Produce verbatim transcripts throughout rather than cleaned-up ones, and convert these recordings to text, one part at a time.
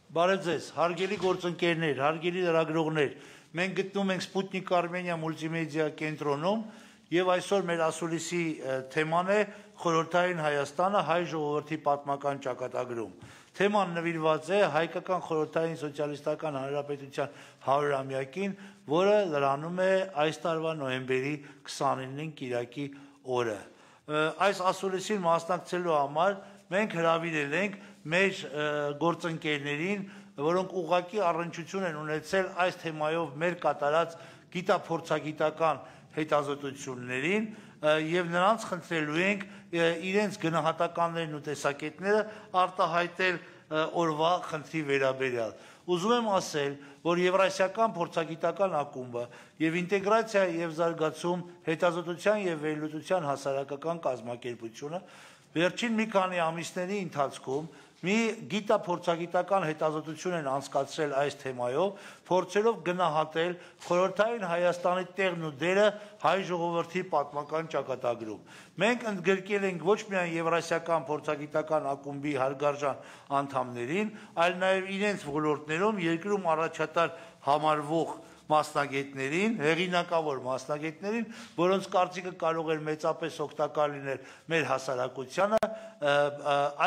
Բարև ձեզ, հարգելի գործընկերներ, հարգելի լրագրողներ, մենք գտնում ենք Sputnik Armenia մուլտիմեդիա կենտրոնում եւ այսօր մեր ասուլիսի թեման է խորհրդային Հայաստանը հայ ժողովրդի պատմական ճակատագրում։ Թեման նվիրված է հայկական խորհրդային սոցիալիստական հանրապետության հարյուրամյակին, որը լրանում է այս տարվա նոյեմբերի քսաներկու կիրակի օրը։ Այս ասուլիսին մասնակցելու համար մենք հրավիրել ենք մեր գործընկերներին, որոնք ուղղակի առնչություն են ունեցել այս թեմայով մեր կատարած գիտափորձագիտական հետազոտություններին եւ նրանց խնդրելու ենք իրենց գնահատականներն ու տեսակետները արտահայտել օրվա խնդրի վերաբերյալ։ Ուզում եմ ասել, որ Եվրասիական փորձագիտական ակումբը եւ ինտեգրացիա եւ զարգացում հետազոտության եւ վերլուծության հասարակական կազմակերպությունը վերջին մի քանի ամիսների ընթացքում մի գիտափորձագիտական հետազոտություն են անցկացրել այս թեմայով, փորձելով գնահատել խորհրդային Հայաստանի տեղն ու դերը հայ ժողովրդի պատմական ճակատագրում։ Մենք ընդգրկել ենք ոչ միայն Եվրասիական փորձագիտական ակումբի հարգարժան անդամներին, այլ նաև իրենց ոլորտներում երկրում առաջատար համարվող մասնագետներին, հեղինակավոր մասնագետներին, որոնց կարծիքը կարող էր մեծապես օգտակար լինել մեր հասարակությանը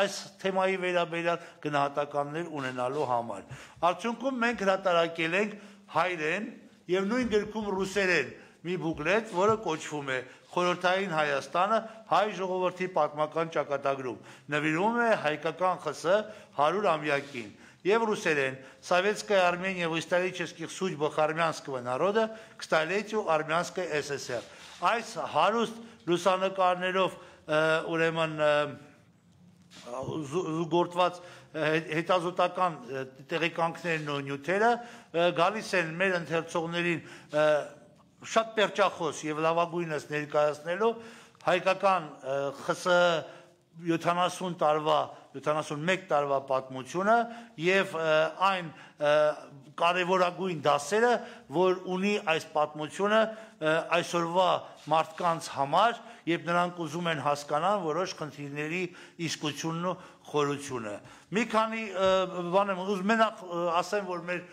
այս թեմայի վերաբերյալ գնահատականներ ունենալու համար։ Արդյունքում մենք հրատարակել ենք հայերեն եւ նույն գրքում ռուսերեն մի բուկլետ, որը կոչվում է Խորհրդային Հայաստանը հայ ժողովրդի պատմական ճակատագրում, նվիրվում է հայկական ԽՍՀ հարյուրամյակին եւ ռուսերեն Советская Армения в исторических судьбах армянского народа к столетию Армянской ССР։ Այս հարուստ լուսանկարներով ուրեմն զուգորդված հետազոտական տեղեկանքներն ու նյութերը գալիս են մեր ընթերցողներին շատ պերճախոս եւ լավագույնս ներկայացնելով հայկական ԽՍՀ յոթանասուն տարվա յոթանասունմեկ տարվա պատմությունը եւ այն կարևորագույն դասերը, որ ունի այս պատմությունը այսօրվա մարդկանց համար, երբ նրանք ուզում են հասկանալ որոշ խնդիրների իսկությունն ու խորությունը։ Մի քանի բան եմ ուզում մենակ ասեմ, որ մեր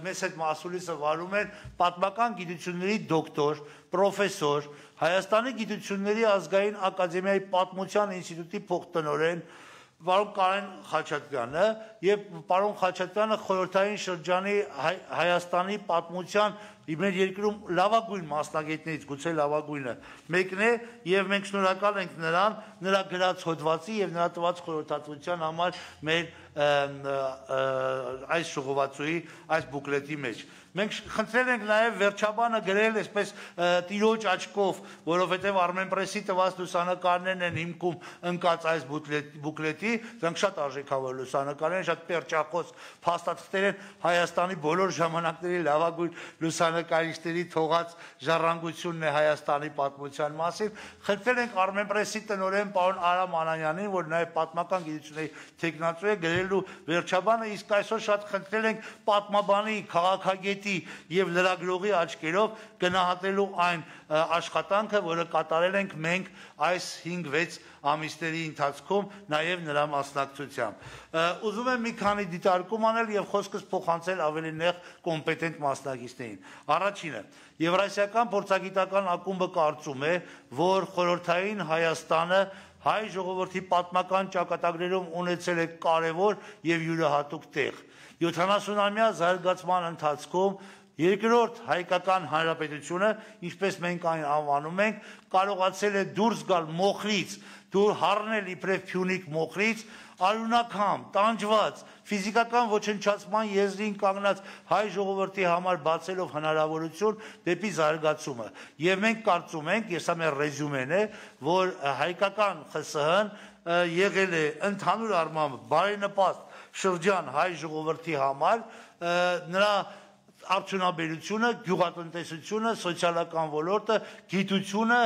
մեզ հետ մասուլիսը վարում են պատմական գիտությունների դոկտոր, պրոֆեսոր, Հայաստանի գիտությունների ազգային ակադեմիայի պատմության ինստիտուտի փոխտնօրեն պարոն Կարեն Խաչատրյանը եւ պարոն Խաչատրյանը խորհրդային շրջանի Հայաստանի պատմության մեր երկրում լավագույն մասնագետներից, գուցե լավագույնը մեկն է եւ մենք շնորհակալ ենք նրան, նրա գրած հոդվածի եւ նրա տված խորհրդատվության համար մեր այս ժողովածուի, այս բուկլետի մեջ։ Մենք խնդրել ենք նաև վերջաբանը գրել այսպես տիրոջ աչքով, որովհետև Armenpress-ի տված լուսանկարներն են հիմքում ընկած այս բուկլետի, դրանք շատ արժեքավոր լուսանկարներ են, շատ պերճախոս փաստաթղթեր են Հայաստանի բոլոր ժամանակների լավագույն լուսանկարիչների թողած ժառանգությունն է Հայաստանի պատմության մասին։ Խնդրել ենք Armenpress-ի տնօրեն պարոն Արամ Անանյանին, որ նաև պատմական գիտությունների թեկնածու է, գրելու վերջաբանը, իսկ այսօր շատ խնդրել ենք պատմաբանի, քաղաքագետի եւ լրագրողի աչքերով գնահատելու այն աշխատանքը, որը կատարել ենք մենք այս հինգ-վեց ամիսների ընթացքում, նաեւ նրա մասնակցությամբ։ Ուզում եմ մի քանի դիտարկում անել եւ խոսքս փոխանցել ավելի նեղ կոմպետենտ մասնակիցներին։ Առաջինը, Եվրասիական փորձագիտական ակումբը կարծում է, որ խորհրդային Հայաստանը հայ ժողովրդի պատմական ճակատագրերում ունեցել է կարևոր եւ յուրահատուկ տեղ։ յոթանասունամյա զարգացման ընթացքում երկրորդ հայկական հանրապետությունը, ինչպես մենք այն անվանում ենք, կարողացել է դուրս գալ մոխրից, դուր հառնել իբրև Փյունիկ մոխրից, արյունակամ, տանջված, ֆիզիկական ոչնչացման եզրին կանգնած հայ ժողովրդի համար բացելով հնարավորություն դեպի զարգացումը։ Եվ մենք կարծում ենք, ես սա մեր ռեզյումեն է, որ հայկական ԽՍՀ-ն եղել է ընդհանուր առմամբ բարենպաստ շրջան հայ ժողովրդի համար, նրա արդյունաբերությունը, գյուղատնտեսությունը, սոցիալական ոլորտը, գիտությունը,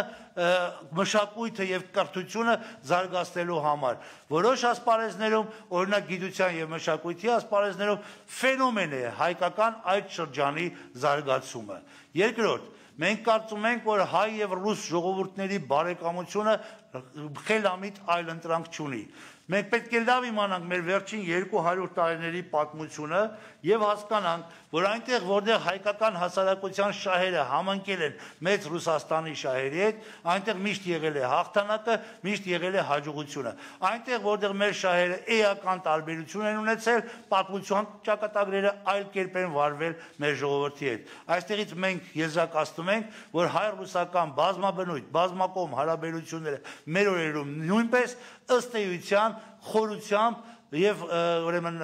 մշակույթը եւ կրթությունը զարգացնելու համար։ Որոշ ասպարեզներում, օրինակ գիտության եւ մշակույթի ասպարեզներում ֆենոմեն է հայկական այդ շրջանի զարգացումը։ Երկրորդ, մենք կարծում ենք, որ հայ եւ ռուս ժողովուրդների բարեկամությունը խելամիտ այլընտրանք չունի։ Մենք պետք է լավ իմանանք մեր վերջին երկու հարյուր տարիների պատմությունը եւ հասկանանք, որ այնտեղ, որտեղ հայկական հասարակության շահերը համընկել են մեծ Ռուսաստանի շահերի հետ, այնտեղ միշտ եղել է հաղթանակը, միշտ եղել է հաջողությունը։ Այնտեղ, որտեղ մեր շահերը էական տարբերություն են ունեցել, պատմության ճակատագրերը այլ կերպ են վարվել մեր ժողովրդի հետ։ Այստեղից մենք եզրակացնում ենք, որ հայ-ռուսական բազմաբնույթ, բազմակողմ հարաբերությունները մեր օրերում նույնպես ըստ էության խորությամբ եւ ուրեմն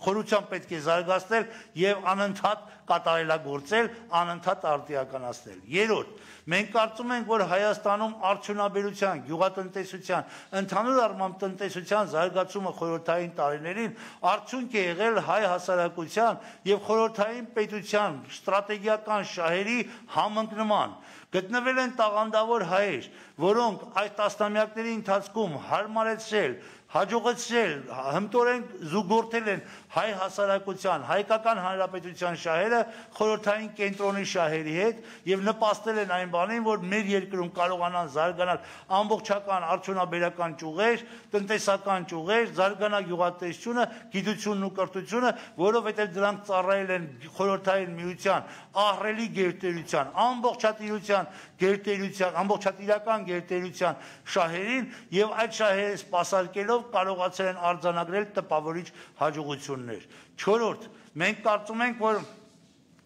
խորությամբ պետք է զարգացնել եւ անընդհատ կատարելագործել, անընդհատ արտիականացնել։ Երրորդ, մենք կարծում ենք, որ Հայաստանում արդյունաբերության, գյուղատնտեսության, ընդհանուր առմամբ տնտեսության զարգացումը խորհրդային տարիներին արդյունք է եղել հայ հասարակության եւ խորհրդային պետության ստրատեգիական շահերի համընկնման։ Գտնվել են տաղանդավոր հայեր, որոնք այս տասնամյակների ընթացքում հարմարեցրել, հաջողեցրել, հմտորեն զուգորդել են հայ հասարակության, հայկական հանրապետության շահերը խորհրդային կենտրոնի շահերի հետ եւ նպաստել են այն բանին, որ մեր երկրում կարողանան զարգանալ ամբողջական արդյունաբերական ճյուղեր, տնտեսական ճյուղեր, զարգանա գյուղատնտեսությունը, գիտությունն ու կրթությունը, որովհետեւ դրանք ծառայել են խորհրդային միության ահռելի գերտերության, ամբողջատիրության գերտերության, ամբողջատիրական գերտերության շահերին եւ այդ շահերը սպասարկելով կարողացել են արձանագրել տպավորիչ հաջողություններ։ Չորրորդ, մենք կարծում ենք, որ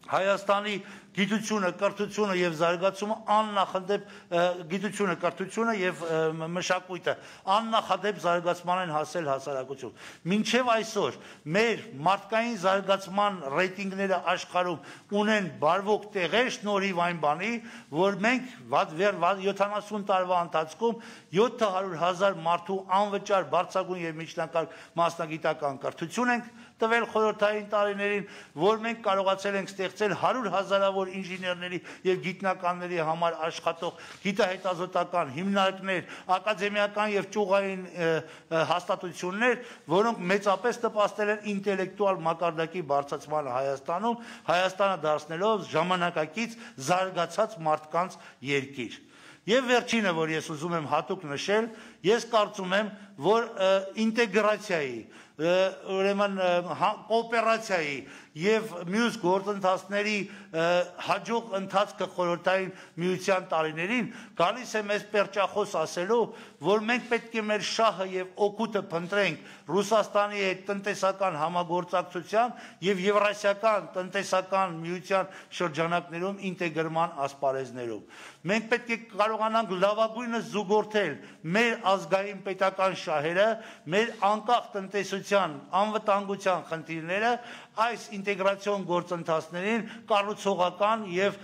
Հայաստանի գիտությունը, կրթությունը եւ զարգացումը աննախադեպ գիտությունը, կրթությունը եւ մշակույթը աննախադեպ զարգացման են հասել հասարակություն։ Մինչեւ այսօր մեր մարդկային զարգացման ռեյտինգները աշխարհում ունեն բարվոք տեղեր շնորհիվ այն բանի, որ մենք յոթանասուն տարվա ընթացքում յոթ հարյուր հազար մարդու անվճար բարձրագույն եւ միջնակարգ մասնագիտական կրթություն ենք տվել խորհրդային տարիներին, որ մենք կարողացել ենք ստեղծել հարյուր հազարավոր ինժեներների եւ գիտնականների համար աշխատող գիտահետազոտական հիմնարկներ, ակադեմիական եւ ճյուղային հաստատություններ, որոնք մեծապես նպաստել են ինտելեկտուալ մակարդակի բարձրացմանը Հայաստանում, Հայաստանը դարձնելով ժամանակակից զարգացած մարդկանց երկիր։ Եվ վերջինը, որ ես ուզում եմ հատուկ նշել, ես կարծում եմ, որ ինտեգրացիայի, ուրեմն կոոպերացիայի եւ մյուս գործընթացների հաջող ընթացքը խորհրդային միության տարիներին գալիս է մեզ պերճախոս ասելու, որ մենք պետք է մեր շահը եւ օգուտը փնտրենք Ռուսաստանի հետ տնտեսական համագործակցության եւ Եվրասիական տնտեսական միության շրջանակներում ինտեգրման ասպարեզներում։ Մենք պետք է կարողանանք լավագույնս զուգորդել մեր ազգային պետական շահերը, մեր անկախ տնտեսության, անվտանգության խնդիրները այս ինտեգրացիոն գործընթացներին կառուցողական եւ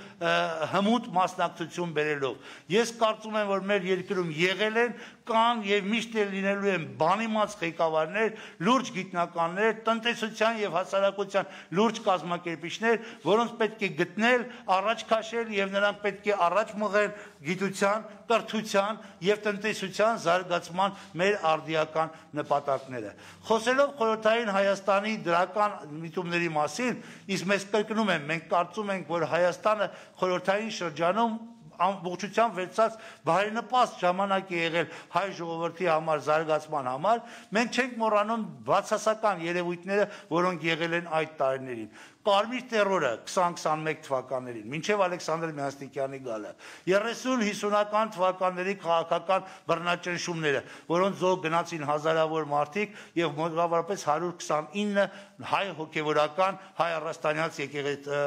հմուտ մասնակցություն բերելով։ Ես կարծում եմ, որ մեր երկրում եղել են, կան եւ միշտ էլ լինելու են բանիմաց ղեկավարներ, լուրջ գիտնականներ, տնտեսության եւ հասարակության լուրջ կազմակերպիչներ, որոնց պետք է գտնել, առաջ քաշել եւ նրանք պետք է առաջ մղել գիտության, կրթության եւ տնտեսության զարգացման մեր արդիական նպատակները։ Խոսելով խորհրդային Հայաստանի դրական միտումների մասին, իսկ մեզ կրկնում եմ, մենք կարծում ենք, որ Հայաստանը խորհրդային շրջանում ամբողջությամբ վերցած բարենպաստ ժամանակ է եղել հայ ժողովրդի համար զարգացման համար, մենք չենք մոռանում բացասական երևույթները, որոնք եղել են այդ տարիներին։ Կարմիր տերորը քսան քսանմեկ թվականներին, մինչև Ալեքսանդր Մյասնիկյանի գալը, երեսուն հիսունական թվականների քաղաքական բռնաճնշումները, որոնց զոհ գնացին հազարավոր մարդիկ եւ մոտավորապես հարյուր քսանինը հայ հոգեվորական, հայ առաստանյաց եկեղեցի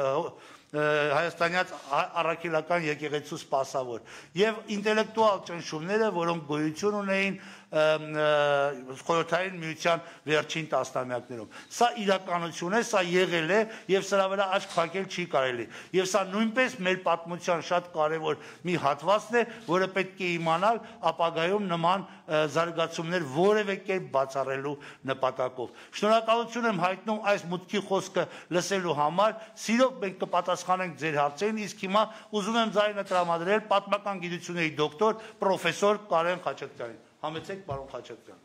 հայաստանյաց առաքելական եկեղեցու սպասավոր եւ ինտելեկտուալ ճնշումները, որոնք գոյություն ունեին խորհրդային միության վերջին տասնամյակներում։ Սա իրականություն է, սա եղել է եւ սրա վրա աչք փակել չի կարելի։ Եվ սա նույնպես մեր պատմության շատ կարեւոր մի հատվածն է, որը պետք է իմանալ ապագայում նման զարգացումներ որևէ կերպ բացառելու նպատակով։ Շնորհակալություն եմ հայտնում այս մուտքի խոսքը լսելու համար։ Սիրով մենք կպատասխանենք ձեր հարցերին, իսկ հիմա ուզում եմ ձայնը տրամադրել պատմական գիտությունների դոկտոր պրոֆեսոր Կարեն Խաչատրյանին։ Համեցեք, պարոն Խաչատրյան։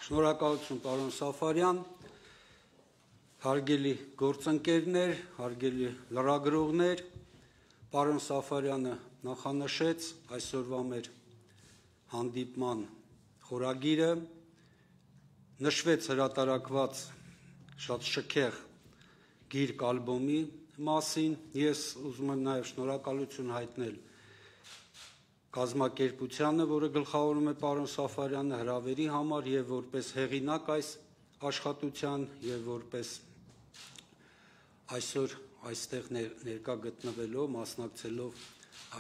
Շնորհակալություն, պարոն Սաֆարյան, հարգելի գործընկերներ, հարգելի լրագրողներ, պարոն Սաֆարյանը նախանշեց այսօրվա մեր հանդիպման խորագիրը, նշվեց հրատարակված շատ շքեղ գիրք ալբոմի մասին, ես ուզում եմ նաև շնորհակալություն հայտնել կազմակերպությանը, որը գլխավորում է պարոն Սաֆարյանը, հրավերի համար եւ որպես հեղինակ այս աշխատության եւ որպես այսօր այստեղ ներկա գտնվելով, մասնակցելով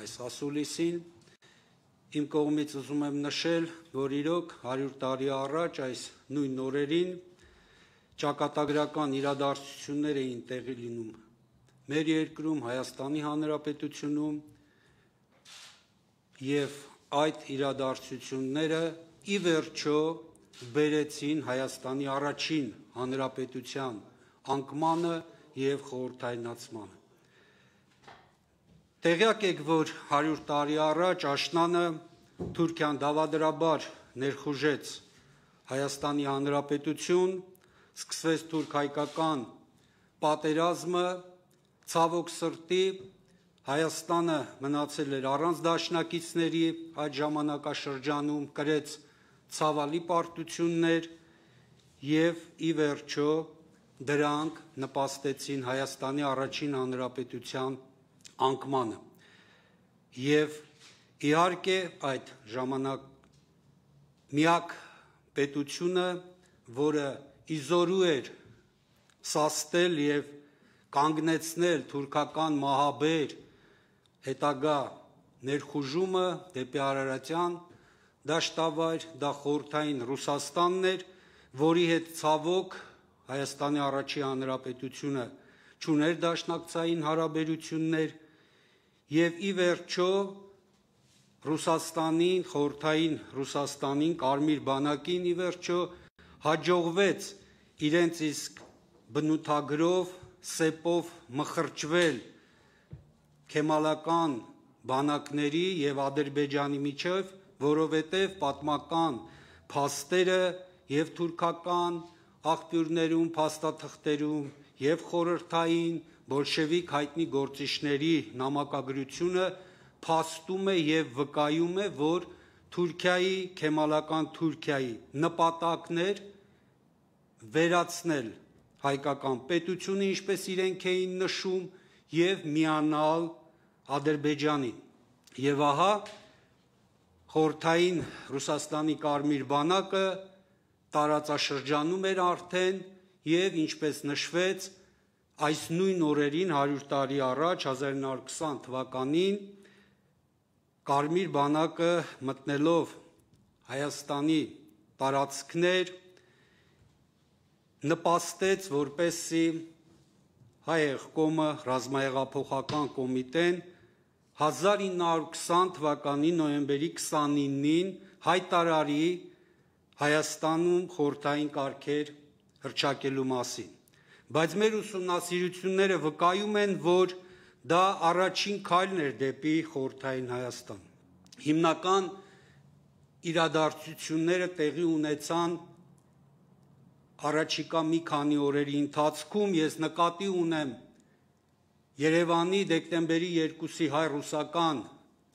այս ասուլիսին, իմ կողմից ուզում եմ նշել, որ իրոք հարյուր տարի առաջ այս նույն օրերին ճակատագրական իրադարձություններ էին տեղի լինում մեր երկրում, Հայաստանի Հանրապետությունում, եւ այդ իրադարձությունները ի վերջո բերեցին Հայաստանի առաջին հանրապետության անկմանը եւ խորհրդայնացմանը։ Տեղյակ եք, որ հարյուր տարի առաջ աշնանը Թուրքիան դավադրաբար ներխուժեց Հայաստանի Հանրապետություն, սկսվեց թուրք-հայկական պատերազմը, ցավոք սրտի Հայաստանը մնացել էր առանց դաշնակիցների այդ ժամանակաշրջանում, կրեց ցավալի պարտություններ եւ ի վերջո դրանք նպաստեցին Հայաստանի առաջին հանրապետության անկմանը։ Եվ իհարկե այդ ժամանակ միակ պետությունը, որը իզորու էր սաստել եւ կանգնեցնել թուրքական մահաբեր հետագա ներխուժումը դեպի Արարատյան դաշտավայր, դա խորհրդային Ռուսաստանն էր, որի հետ ցավոք Հայաստանի առաջին հանրապետությունը չուներ դաշնակցային հարաբերություններ եւ ի վերջո Ռուսաստանին, խորհրդային Ռուսաստանին, Կարմիր բանակին ի վերջո հաջողվեց իրենց իսկ բնութագրով, սեպով մխրճվել քեմալական բանակների եւ Ադրբեջանի միջև, որովհետեւ պատմական փաստերը եւ թուրքական աղբյուրներում, փաստաթղթերում եւ խորհրդային բոլշևիկ հայտնի գործիչների նամակագրությունը փաստում է եւ վկայում է, որ Թուրքիայի, քեմալական Թուրքիայի նպատակն էր վերացնել հայկական պետությունը, ինչպես իրենք էին նշում, եւ միանալ Ադրբեջանին։ Եվ ահա խորհրդային Ռուսաստանի Կարմիր բանակը տարածաշրջանում էր արդեն եւ ինչպես նշվեց, այս նույն օրերին հարյուր տարի առաջ հազար նույն հարյուր քսան թվականին Կարմիր բանակը մտնելով Հայաստանի տարածքներ նպաստեց, որպեսզի հայ եղկոմը ռազմահեղափոխական կոմիտեն հազար ինը հարյուր քսան թվականի նոյեմբերի քսանինին հայտարարի Հայաստանում խորհրդային կարգեր հռչակելու մասին։ Բայց մեր ուսումնասիրությունները վկայում են, որ դա առաջին քայլն էր դեպի խորհրդային Հայաստան։ Հիմնական իրադարձությունները տեղի ունեցան առաջիկա մի քանի օրերի ընթացքում, ես նկատի ունեմ Երևանի դեկտեմբերի երկուսի հայ-ռուսական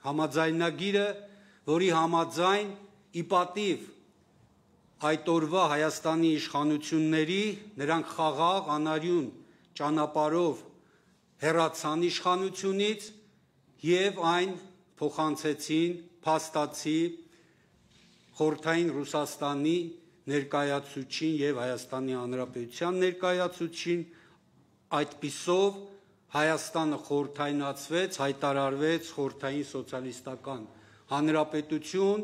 համաձայնագիրը, որի համաձայն ի պատիվ այդ օրվա Հայաստանի իշխանությունների նրանք խաղաղ անարյուն ճանապարհով հեռացան իշխանությունից եւ այն փոխանցեցին փաստացի խորհրդային Ռուսաստանի ներկայացուցչին եւ Հայաստանի Հանրապետության ներկայացուցչին, այդպիսով Հայաստանը խորհրդայնացվեց, հայտարարվեց խորհրդային սոցիալիստական հանրապետություն,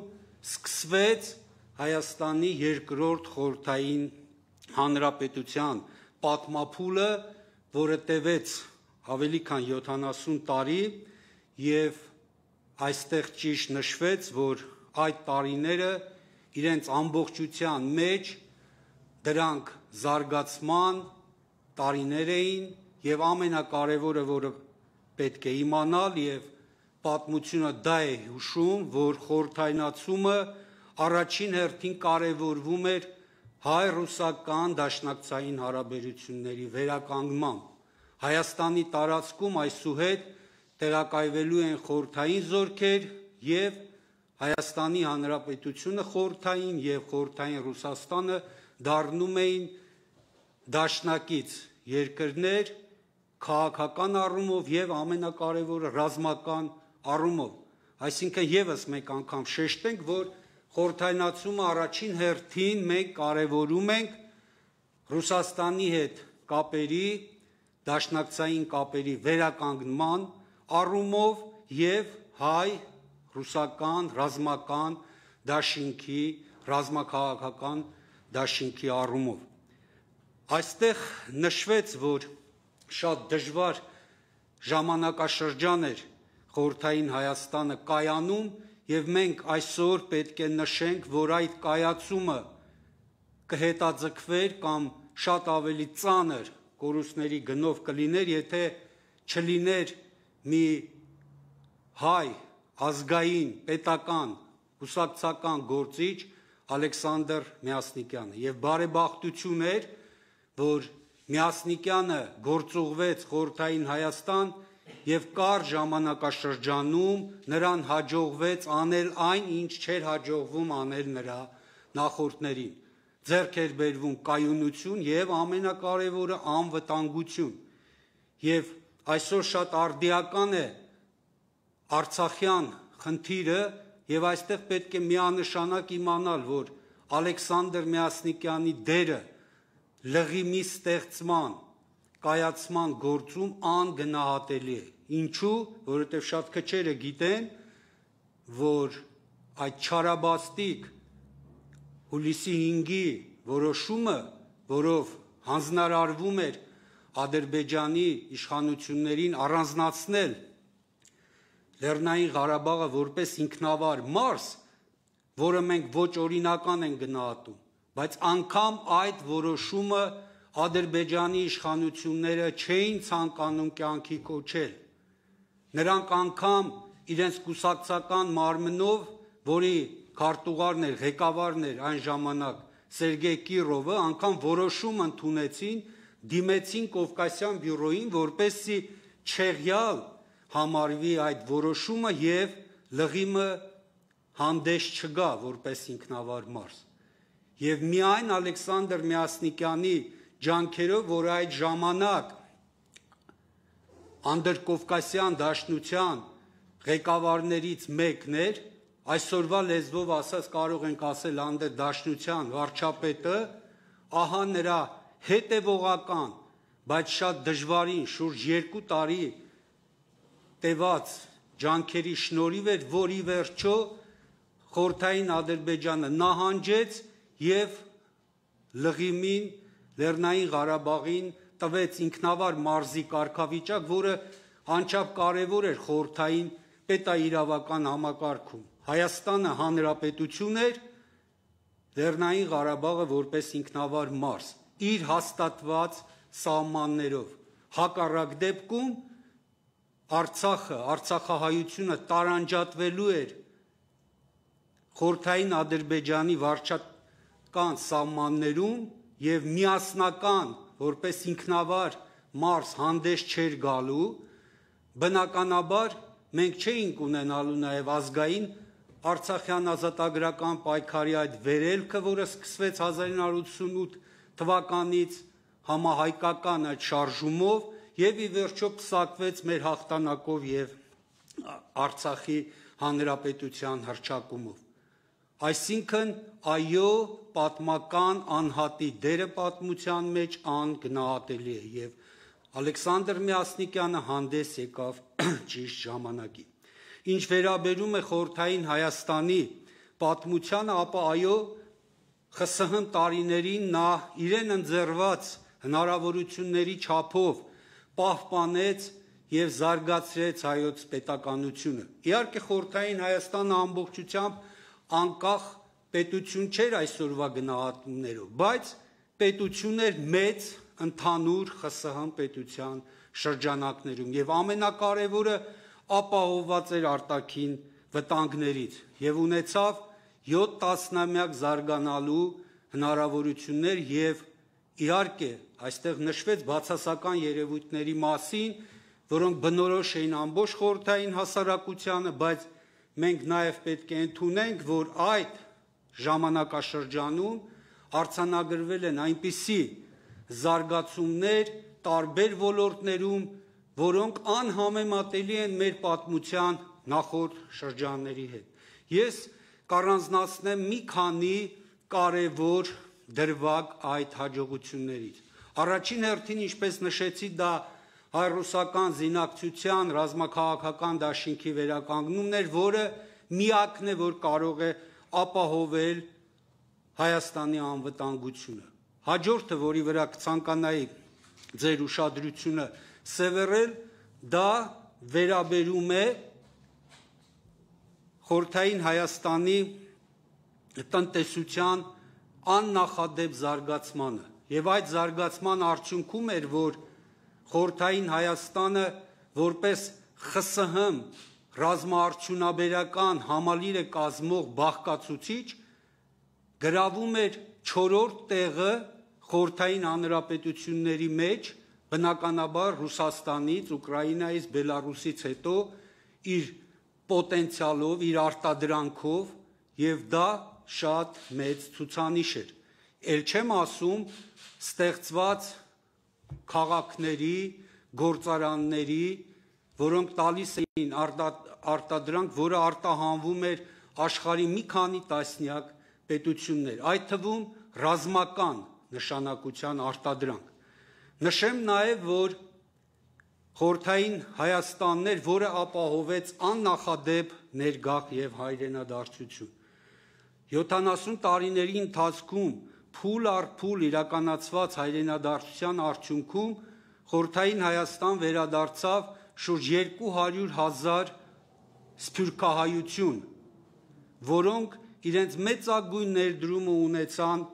սկսվեց Հայաստանի երկրորդ խորհրդային հանրապետության պատմափուլը, որը տևեց ավելի քան յոթանասուն տարի եւ այստեղ ճիշտ նշվեց, որ այդ տարիները իրենց ամբողջության մեջ դրանք զարգացման տարիներ էին եւ ամենակարևորը, որը պետք է իմանալ եւ պատմությունը դա է հուշում, որ խորհրդայնացումը առաջին հերթին կարևորվում էր հայ-ռուսական դաշնակցային հարաբերությունների վերականգնմամբ։ Հայաստանի տարածքում այսուհետ տեղակայվելու են խորհրդային զորքեր եւ Հայաստանի Հանրապետությունը խորհրդային եւ խորհրդային Ռուսաստանը դառնում էին դաշնակից երկրներ քաղաքական առումով եւ ամենակարևորը ռազմական առումով, այսինքն եւս մեկ անգամ շեշտենք, որ խորհրդայնացումը առաջին հերթին մենք կարևորում ենք Ռուսաստանի հետ կապերի, դաշնակցային կապերի վերականգնման առումով եւ հայ ռուսական ռազմական դաշինքի, ռազմաքաղաքական դաշինքի առումով։ Այստեղ նշվեց, որ շատ դժվար ժամանակաշրջան էր խորհրդային Հայաստանը կայանում եւ մենք այսօր պետք է նշենք, որ այդ կայացումը կհետաձգվեր կամ շատ ավելի ծանր կորուստների գնով կլիներ, եթե չլիներ մի հայ ազգային, պետական, կուսակցական գործիչ Ալեքսանդր Միասնիկյանը եւ բարեբախտություն էր, որ Միասնիկյանը գործուղվեց խորհրդային Հայաստան եւ կար ժամանակաշրջանում նրան հաջողվեց անել այն, ինչ չէր հաջողվում անել նրա նախորդներին։ Ձեռք էր բերվում կայունություն եւ ամենակարևորը անվտանգություն։ Եվ այսօր շատ արդիական է Արցախյան խնդիրը եւ այստեղ պետք է միանշանակ իմանալ, որ Ալեքսանդր Միասնիկյանի դերը լղիմի ստեղծման, կայացման գործում անգնահատելի է։ Ինչու? Որովհետեւ շատ քչերը գիտեն, որ այդ չարաբաստիկ հուլիսի հինգի որոշումը, որով հանձնարարվում էր Ադրբեջանի իշխանություններին առանձնացնել Լեռնային Ղարաբաղը որպես ինքնավար մարզ, որը մենք ոչ օրինական ենք գնահատում, բայց անգամ այդ որոշումը Ադրբեջանի իշխանությունները չէին ցանկանում կյանքի կոչել։ Նրանք անգամ իրենց կուսակցական մարմնով, որի քարտուղարն էր, ղեկավարն էր այն ժամանակ Սերգեյ Կիրովը, անգամ որոշում ընդունեցին, դիմեցին Կովկասյան բյուրոյին, որպեսզի չեղյալ համարվի այդ որոշումը եւ լղիմը հանդես չգա որպես ինքնավար մարզ։ Եվ միայն Ալեքսանդր Միասնիկյանի ջանքերով, որ այդ ժամանակ անդրկովկասյան դաշնության ղեկավարներից մեկն էր, այսօրվա լեզվով ասած կարող ենք ասել անդրդաշնության վարչապետը, ահա նրա հետևողական, բայց շատ դժվարին շուրջ երկու տարի տևած ջանքերի շնորհիվ էր, որ ի վերջո խորհրդային Ադրբեջանը նահանջեց եւ լղիմին, Լեռնային Ղարաբաղին տվեց ինքնավար մարզի կարգավիճակ, որը անչափ կարևոր էր խորհրդային պետաիրավական համակարգում։ Հայաստանը հանրապետություն էր, Լեռնային Ղարաբաղը որպես ինքնավար մարզ, իր հաստատված սահմաններով։ Հակառակ դեպքում Արցախը, Արցախահայությունը տարանջատվելու էր խորհրդային Ադրբեջանի վարչական սահմաններում եւ միասնական, որպես ինքնավար մարզ հանդես չէր գալու, բնականաբար մենք չէինք ունենալու նաեւ ազգային Արցախյան ազատագրական պայքարի այդ վերելքը, որը սկսվեց հազար ինը հարյուր ութսունութ թվականից համահայկական այդ շարժումով եւ ի վերջո պսակվեց մեր հաղթանակով եւ Արցախի հանրապետության հռչակումով։ Այսինքն, այո, պատմական անհատի դերը պատմության մեջ անգնահատելի է եւ Ալեքսանդր Միասնիկյանը հանդես եկավ ճիշտ ժամանակին։ Ինչ վերաբերում է խորհրդային Հայաստանի պատմությանը, ապա այո, ԽՍՀՄ տարիներին նա իրեն ընձեռված հնարավորությունների չափով պահպանեց եւ զարգացրեց հայոց պետականությունը։ Իհարկե խորհրդային Հայաստանը ամբողջությամբ անկախ պետություն չէր այսօրվա գնահատումներով, բայց պետություն էր մեծ ընդհանուր ԽՍՀՄ պետության շրջանակներում եւ ամենակարևորը ապահովված էր արտաքին վտանգներից եւ ունեցավ յոթ տասնամյակ զարգանալու հնարավորություններ եւ իհարկե այստեղ նշվեց բացասական երևույթների մասին, որոնք բնորոշ էին ամբողջ խորհրդային հասարակությանը, բայց մենք նաև պետք է ընդունենք, որ այդ ժամանակաշրջանում արձանագրվել են այնպիսի զարգացումներ տարբեր ոլորտներում, որոնք անհամեմատելի են մեր պատմության նախորդ շրջանների հետ։ Ես կառանձնացնեմ մի քանի կարևոր դրվագ այդ հաջողություններից։ Առաջին հերթին, ինչպես նշեցի, դա հայ-ռուսական զինակցության ռազմաքաղաքական դաշինքի վերականգնումն էր, որը միակն է, որ կարող է ապահովել Հայաստանի անվտանգությունը։ Հաջորդը, որի վրա կցանկանայի ձեր ուշադրությունը սևեռել, դա վերաբերում է խորհրդային Հայաստանի տնտեսության աննախադեպ զարգացմանը, եւ այդ զարգացման արդյունքում էր, որ խորհրդային Հայաստանը որպես ԽՍՀՄ ռազմաարդյունաբերական համալիրը կազմող բաղկացուցիչ գրավում էր չորրորդ տեղը խորհրդային հանրապետությունների մեջ, բնականաբար Ռուսաստանից, Ուկրաինայից, Բելարուսից հետո իր պոտենցիալով, իր արտադրանքով, եւ դա շատ մեծ ցուցանիշ էր։ Էլ չեմ ասում ստեղծված քաղաքների, գործարանների, որոնք տալիս էին արտադրանք, որը արտահանվում էր աշխարհի մի քանի տասնյակ պետություններ, այդ թվում ռազմական նշանակության արտադրանք։ Նշեմ նաև, որ խորհրդային Հայաստանն էր, որը ապահովեց աննախադեպ ներգաղթ եւ հայրենադարձություն։ յոթանասուն տարիների ընթացքում փուլ առ փուլ իրականացված հայրենադարձության արդյունքում խորհրդային Հայաստան վերադարձավ շուրջ երկու հարյուր հազար սփյուռքահայություն, որոնք իրենց մեծագույն ներդրումը ունեցան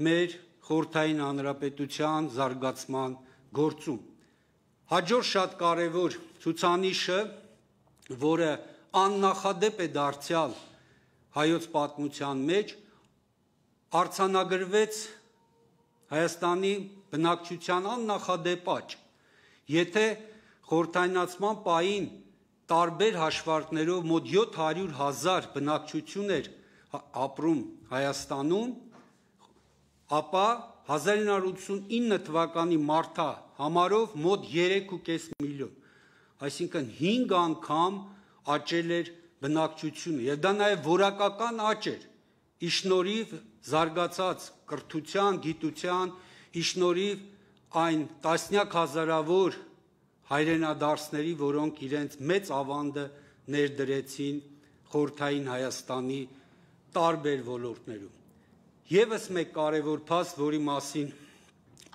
մեր խորհրդային հանրապետության զարգացման գործում։ Հաջորդ շատ կարևոր ցուցանիշը, որը աննախադեպ է դարձյալ հայոց պատմության մեջ, արձանագրվեց Հայաստանի բնակչության աննախադեպ աճ։ Եթե խորհրդայնացման պահին տարբեր հաշվարկներով մոտ յոթ հարյուր հազար բնակչություն էր ապրում Հայաստանում, ապա հազար ինը հարյուր ութսունինը թվականի մարտա համարով մոտ երեք ու կես միլիոն, այսինքն հինգ անգամ աճել էր բնակչությունը, եւ դա նաեւ որակական աճ էր, ի շնորհիվ զարգացած կրթության, գիտության, ի շնորհիվ այն տասնյակ հազարավոր հայրենադարձների, որոնք իրենց մեծ ավանդը ներդրեցին խորհրդային Հայաստանի տարբեր ոլորտներում։ Եվս մեկ կարևոր փաստ, որի մասին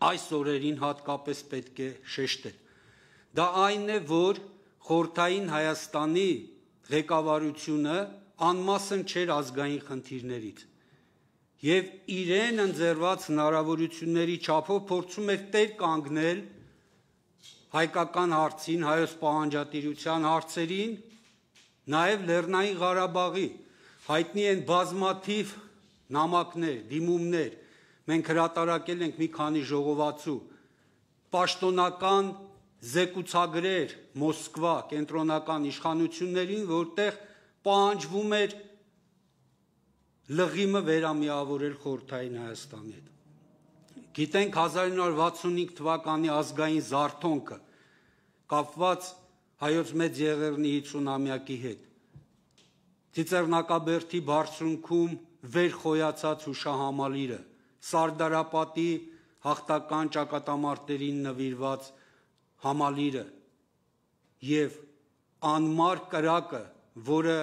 այս օրերին հատկապես պետք է շեշտել, դա այն է, որ խորհրդային Հայաստանի ղեկավարությունը անմասն չէր ազգային խնդիրներից եւ իրեն ընձեռված հնարավորությունների չափով փորձում էր տեր կանգնել հայկական հարցին, հայոց պահանջատիրության հարցերին, նաեւ Լեռնային Ղարաբաղի հայտնի են բազմաթիվ նամակներ, դիմումներ, մենք հրատարակել ենք մի քանի ժողովածու, պաշտոնական զեկուցագրեր Մոսկվա կենտրոնական իշխանություններին, որտեղ պահանջվում էր լղիմը վերամիավորել խորհրդային Հայաստանի հետ։ Գիտենք հազար ինը հարյուր վաթսունհինգ թվականի ազգային զարթոնքը կապված հայոց մեծ եղեռնի հինգսունամյակի հետ։ Ծիծեռնակաբերդի բարձունքում վեր խոյացած հուշահամալիրը, Սարդարապատի հաղթական ճակատամարտերին նվիրված համալիրը եւ անմար կրակը, որը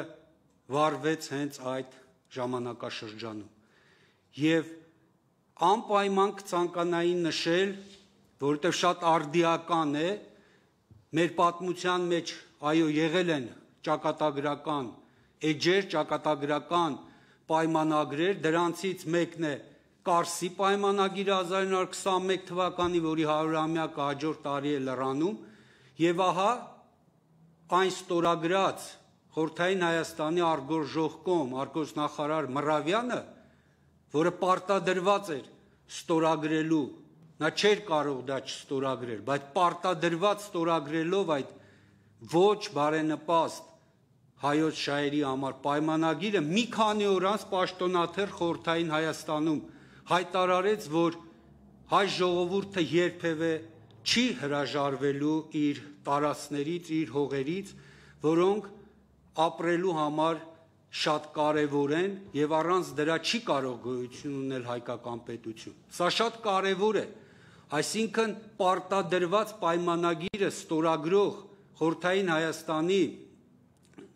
վարվեց հենց այդ ժամանակաշրջանում։ Եվ անպայման կցանկանայի նշել, որովհետև շատ արդիական է, մեր պատմության մեջ այո եղել են ճակատագրական էջեր, ճակատագրական պայմանագրեր, դրանցից մեկն է Կարսի պայմանագիրը հազար ինը հարյուր քսանմեկ թվականի, որի հարյուրամյակը հաջորդ տարի է լրանում, եւ ահա այն ստորագրած խորհրդային Հայաստանի արգորժողկոմ արգոսնախարար Մռավյանը, որը պարտադրված էր ստորագրելու նա չէր կարող դա չստորագրել, բայց պարտադրված ստորագրելով այդ ոչ բարենպաստ հայոց շահերի համար պայմանագիրը մի քանի օր անց պաշտոնաթեր Խորհրդային Հայաստանում հայտարարեց, որ հայ ժողովուրդը երբևէ չի հրաժարվելու իր տարածքներից, իր հողերից, որոնք ապրելու համար շատ կարևոր են եւ առանց դրա չի կարող գոյություն ունել հայկական պետություն։ Սա շատ կարևոր է, այսինքն պարտադրված պայմանագիրը ստորագրող Խորհրդային Հայաստանի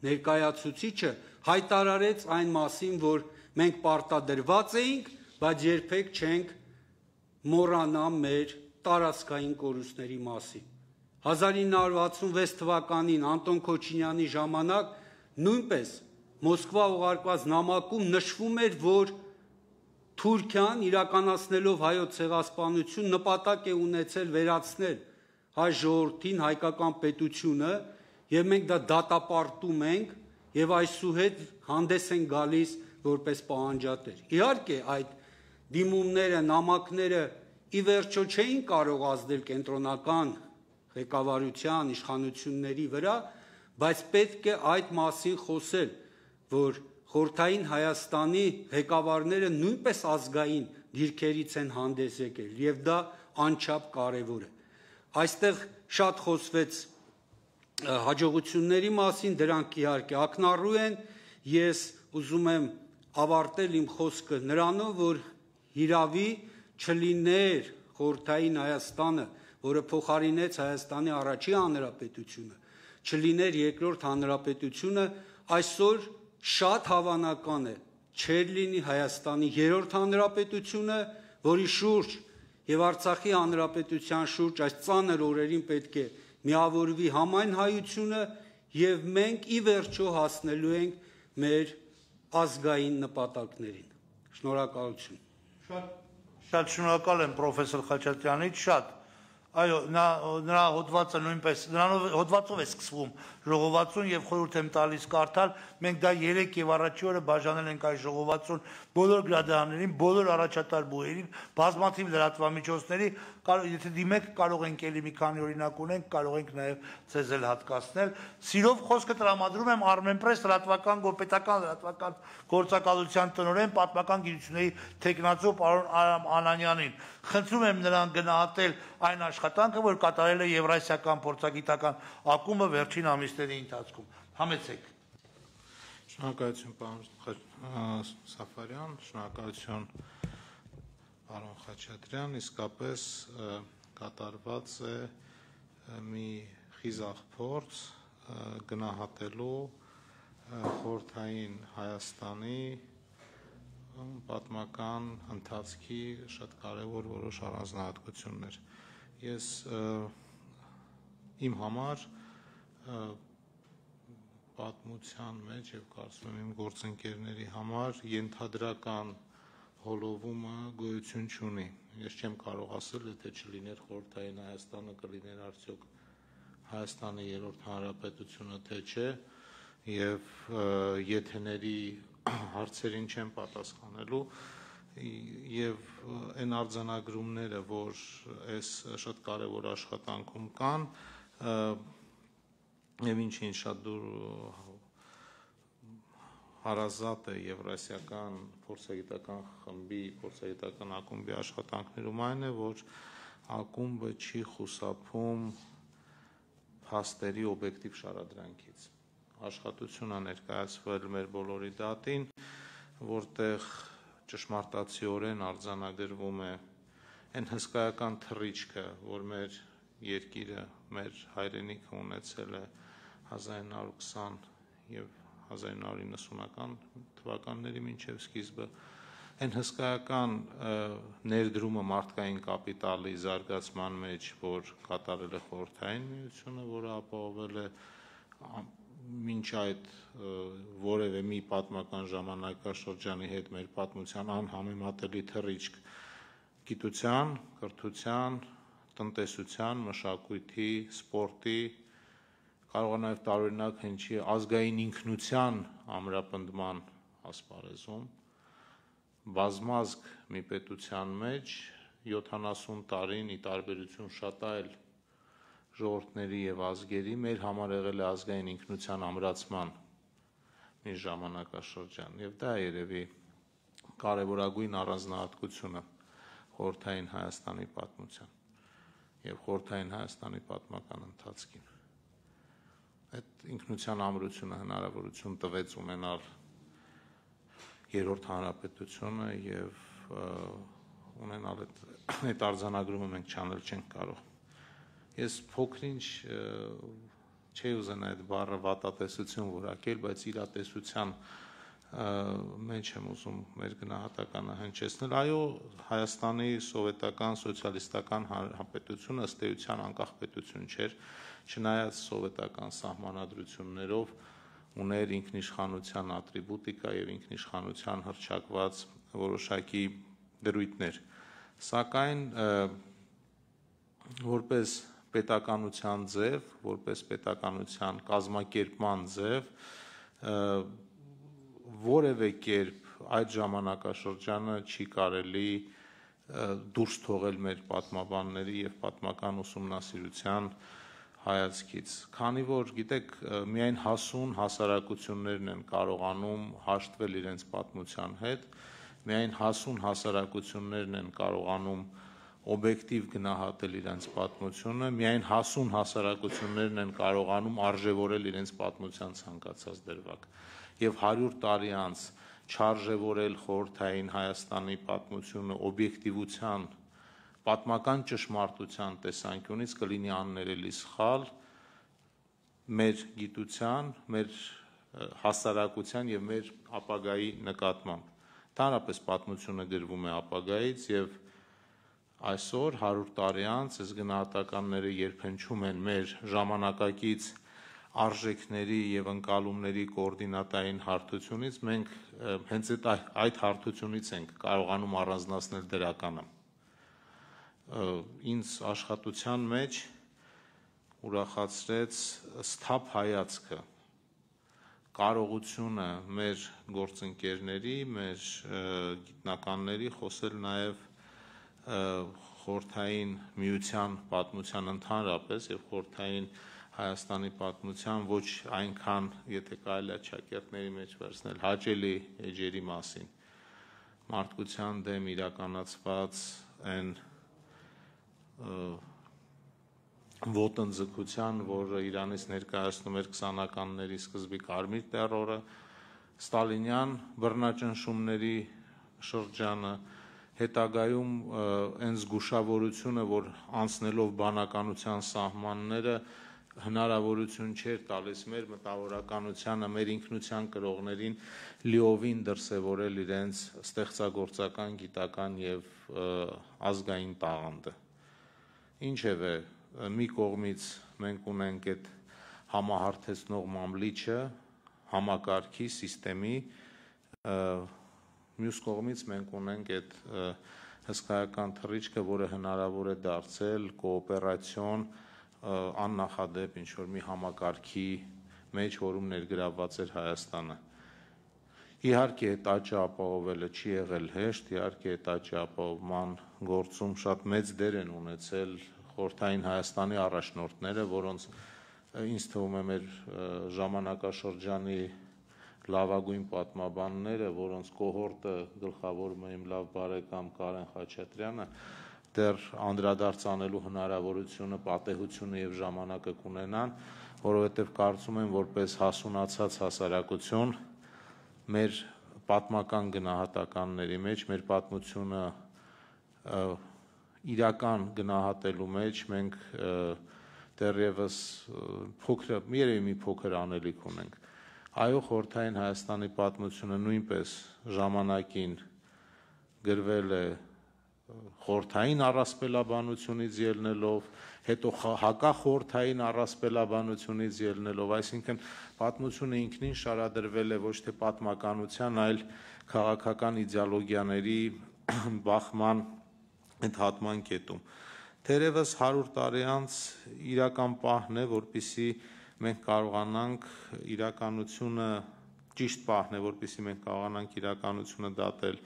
ներկայացուցիչը հայտարարեց այն մասին, որ մենք պարտադրված էինք, բայց երբեք չենք մոռանա մեր տարածքային կորուստների մասին։ հազար ինը հարյուր վաթսունվեց թվականին Անտոն Քոչինյանի ժամանակ նույնպես Մոսկվա ուղարկված նամակում նշվում էր, որ Թուրքիան իրականացնելով հայոց ցեղասպանություն նպատակ է ունեցել վերացնել հայ ժողովրդին, հայկական պետությունը, եւ մենք դա դատապարտում ենք եւ այսուհետ հանդես են գալիս որպես պահանջատեր։ Իհարկե այդ դիմումները, նամակները ի վերջո չէին կարող ազդել կենտրոնական ղեկավարության, իշխանությունների վրա, բայց պետք է այդ մասին խոսել, որ Խորհրդային Հայաստանի ղեկավարները նույնպես ազգային դիրքերից են հանդես եկել եւ դա անչափ կարեւոր է։ Այստեղ շատ խոսվեց հաջողությունների մասին, դրանք իհարկե ակնառու են, ես ուզում եմ ավարտել իմ խոսքը նրանով, որ հիրավի չլիներ Խորհրդային Հայաստանը, որը փոխարինեց Հայաստանի առաջին հանրապետությունը, չլիներ երկրորդ հանրապետությունը, այսօր շատ հավանական է չէր լինի Հայաստանի երրորդ հանրապետությունը, որի շուրջ եւ Արցախի հանրապետության շուրջ այս ծանր օրերին պետք է միավորվի համայն հայությունը եւ մենք ի վերջո հասնելու ենք մեր ազգային նպատակներին։ Շնորհակալություն։ Շատ շատ շնորհակալ եմ պրոֆեսոր Խաչատրյանից, շատ այո, նա նրա հոդվածը նույնպես նրանով հոդվածով է սկսվում ժողովածուն եւ խորհուրդ եմ տալիս կարդալ, մենք դա երեք եւ առաջի օրը բաժանել ենք այս ժողովածուն բոլոր գրադարաններին, բոլոր առաջատար բուհերին, բազմաթիվ լրատվամիջոցների, եթե դիմեք կարող ենք էլի մի քանի օրինակ ունենք, կարող ենք նաեւ ցեզ էլ հատկացնել։ Սիրով խոսքը տրամադրում եմ Armenpress լրատվական գոպետական լրատվական գործակալության տնօրեն պատմական գիտությունների թեկնածու պարոն Արամ Անանյանին։ Խնդրում եմ նրան գնահատել այն աշխատանքը, որ կատարել է Եվրասիական փորձագիտական ակումբը վերջին ամիսների ընթացքում։ Համեցեք։ Շնորհակալություն պարոն Սաֆարյան, շնորհակալություն պարոն Խաչատրյան, իսկապես կատարված է մի խիզախ փորձ գնահատելու խորհրդային Հայաստանի պատմական ընթացքի շատ կարևոր որոշ առանձնահատկություններ։ Ես իմ համար պատմության մեջ եւ կարծում եմ իմ գործընկերների համար ենթադրական հոլովումը գոյություն չունի։ Ես չեմ կարող ասել, եթե չլիներ խորհրդային Հայաստանը, կլիներ արդյոք Հայաստանի երրորդ հանրապետությունը, թե չէ, եւ եթեների հարցերին չեմ պատասխանելու եւ այն արձանագրումները, որ այս շատ կարեւոր աշխատանքում կան, եւ ինչին շատ դուր հարազատ է Եվրասիական փորձագիտական խմբի, փորձագիտական ակումբի աշխատանքներում այն է, որ ակումբը չի խուսափում փաստերի օբյեկտիվ շարադրանքից։ Աշխատություն է ներկայացվել մեր բոլորի դատին, որտեղ ճշմարտացիորեն արձանագրվում է այն հսկայական թռիչքը, որ մեր երկիրը, մեր հայրենիքը ունեցել է հազար ինը հարյուր քսան եւ հազար ինը հարյուր իննսունական թվականների մինչև սկիզբը, այն հսկայական ներդրումը մարդկային կապիտալի զարգացման մեջ, որ կատարել է խորհրդային միությունը, որը ապահովել է մինչ այդ որևէ մի պատմական ժամանակաշրջանի հետ մեր պատմության անհամեմատելի թռիչք գիտության, կրթության, տնտեսության, մշակույթի, սպորտի, կարող է նաև տարօրինակ հնչի ազգային ինքնության ամրապնդման ասպարեզում, բազմազգ մի պետության մեջ յոթանասուն տարին ի տարբերություն շատ այլ ժողովուրդների եւ ազգերի մեր համար եղել է ազգային ինքնության ամրացման մի ժամանակաշրջան եւ դա երևի կարևորագույն առանձնահատկությունը խորհրդային Հայաստանի պատմության եւ խորհրդային Հայաստանի պատմական ընթացքին այդ ինքնության ամրությունը հնարավորություն տվեց ունենալ երրորդ հանրապետությունը եւ ունենալ այդ այդ արձանագրումը մենք չանել չենք կարող ես փոքրինչ չի ուզենա այդ բառը վատատեսություն որակել բայց իրատեսության մեջ եմ ուզում մեր գնահատականը հնչեցնել այո Հայաստանի սովետական սոցիալիստական հանրապետությունը ըստ էության անկախ պետություն չէր չնայած սովետական սահմանադրություններով ուներ ինքնիշխանության ատրիբուտիկա եւ ինքնիշխանության հռչակված որոշակի դրույթներ սակայն որպես պետականության ձև որպես պետականության կազմակերպման ձև որևէ կերպ այդ ժամանակաշրջանը չի կարելի դուրս թողել մեր պատմաբանների եւ պատմական ուսումնասիրության հայացքից քանի որ գիտեք միայն հասուն հասարակություններն են կարողանում հաշտվել իրենց պատմության հետ միայն հասուն հասարակություններն են կարողանում օբյեկտիվ գնահատել իրենց պատմությունը միայն հասուն հասարակություններն են կարողանում արժևորել իրենց պատմության ցանկացած դրվագ եւ հարյուր տարի անց չարժևորել խորհրդային Հայաստանի պատմությունը օբյեկտիվության պատմական ճշմարտության տեսանկյունից կլինի աններելի սխալ մեր գիտության, մեր հասարակության եւ մեր ապագայի նկատմամբ։ Ընդհանրապես պատմությունը գրվում է ապագայից եւ այսօր հարյուր տարի անց այս գնահատականները երբնչում են մեր ժամանակակից արժեքների եւ ընկալումների կոորդինատային հարթությունից մենք հենց այդ հարթությունից ենք կարողանում առանձնացնել դրականը ինձ աշխատության մեջ ուրախացրեց սթափ հայացքը կարողությունը մեր գործընկերների, մեր գիտնականների խոսել նաև խորհրդային միության պատմության ընդհանրապես եւ խորհրդային Հայաստանի պատմության ոչ այնքան, եթե կարելի է ճակերտների մեջ վերցնել, հաճելի էջերի մասին մարդկության դեմ իրականացված այն ոտնձգության, որը Իրանից ներկայացնում էր քսանականների սկզբի կարմիր տերորը, ստալինյան բռնաճնշումների շրջանը, հետագայում այն զգուշավորությունը, որ անցնելով բանականության սահմանները հնարավորություն չէր տալիս մեր մտավորականությանը, մեր ինքնության կրողներին լիովին դրսևորել իրենց ստեղծագործական, գիտական եւ ազգային տաղանդը։ Ինչևէ, մի կողմից մենք ունենք այդ համահարթեցնող մամլիչը, համակարգի, սիստեմի, մյուս կողմից մենք ունենք այդ հսկայական թռիչքը, որը հնարավոր է դարձել կոոպերացիոն աննախադեպ ինչ-որ մի համակարգի մեջ, որում ներգրավված էր Հայաստանը։ Իհարկե, այդ աճը ապահովելը չի եղել հեշտ, իհարկե, այդ աճի ապահովման գործում շատ մեծ դեր են ունեցել խորհրդային Հայաստանի առաջնորդները, որոնց ինձ թվում է մեր ժամանակաշրջանի լավագույն պատմաբանները, որոնց կոհորտը գլխավորում է իմ լավ բարեկամ Կարեն Խաչատրյանը, դեռ անդրադարձ անելու հնարավորությունը, պատեհությունը եւ ժամանակը կունենան, որովհետեւ կարծում եմ, որպես հասունացած հասարակություն մեր պատմական գնահատականների մեջ, մեր պատմությունը իրական գնահատելու մեջ մենք դեռևս փոքր, երևի մի փոքր անելիք ունենք։ Այո, խորհրդային Հայաստանի պատմությունը նույնպես ժամանակին գրվել է խորհրդային առասպելաբանությունից ելնելով, հետո հակախորհրդային առասպելաբանությունից ելնելով, այսինքն պատմությունը ինքնին շարադրվել է ոչ թե պատմականության, այլ քաղաքական իդեոլոգիաների բախման ընդհատման կետում։ Թերևս հարյուր տարի անց իրական պահն է, որպեսզի մենք կարողանանք իրականությունը ճիշտ պահն է, որպեսզի մենք կարողանանք իրականությունը դատել